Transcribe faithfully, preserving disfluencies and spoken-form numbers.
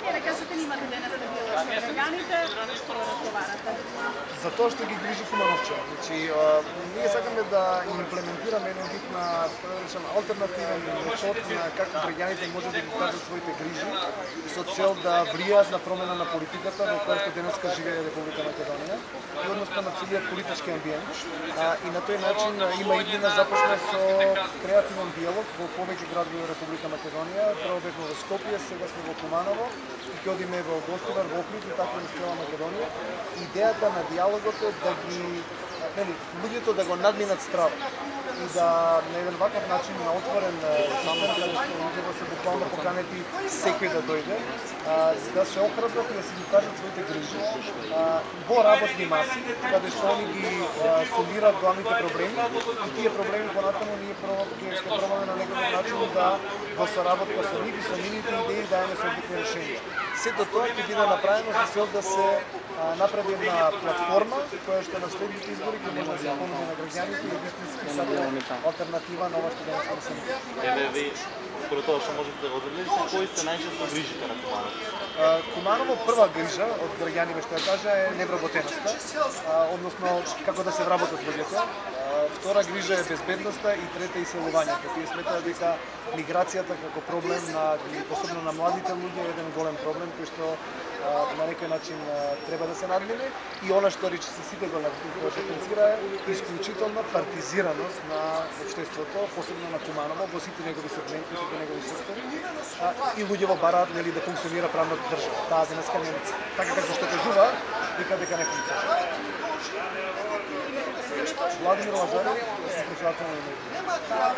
Да кажете, имате денес на било со граѓаните, што разговарате? За тоа што ги грижи Кумановче. Значи, ние сакаме да имплементираме еден вид на, да речем, алтернативен метод на како граѓаните може да ги кажат своите грижи со цел да влијаат на промена на политиката во која што денеска живее Република Македонија и односно на целиот политички амбиент. А, и на тој начин има иднина започна со креативен диалог во повеќе градови во Република Македонија. Прво бевме во Скопје, сега сме во Куманово и ќе одиме во Гостивар, во Охрид и така во цела Македонија. Идејата на диалогот е да ги, нели, луѓето да го надминат стравот и да на еден ваков начин на отворен систем, каде што луѓето се буквално поканети секој да дојде, а, да се охрабрат и да си ги кажат своите грижи а, во работни маси, каде што они ги а, сумираат главните проблеми и тие проблеми понатаму ние прво ќе пробаме на некој начин да во соработка со нив и со нивните идеи даеме соодветни решенија. Сето тоа ќе биде направено со цел да се а, направи една платформа која што на следните избори ќе може да се понуди на граѓаните и вистински сака алтернатива на ова што денес не се. Еве ви, според тоа што можете да го одредите, кои се најчесто грижите на Куманово? Куманово прва грижа од граѓани што ја кажа е невработеноста, односно како да се вработат луѓето. Втора грижа е безбедноста и трета иселувањето. Тие сметаат дека миграцијата како проблем на посебно на младите луѓе е еден голем проблем кој што на некој начин треба да се надмине и она што рече се сите го потенцира е исклучителна партизираност на општеството, посебно на Куманово во сите негови сегменти, сите негови сектори. И луѓето бараат нели да функционира правната држава. Таа денеска не така како што кажува, вика дека не функционира. Владимир Лазарев, председател на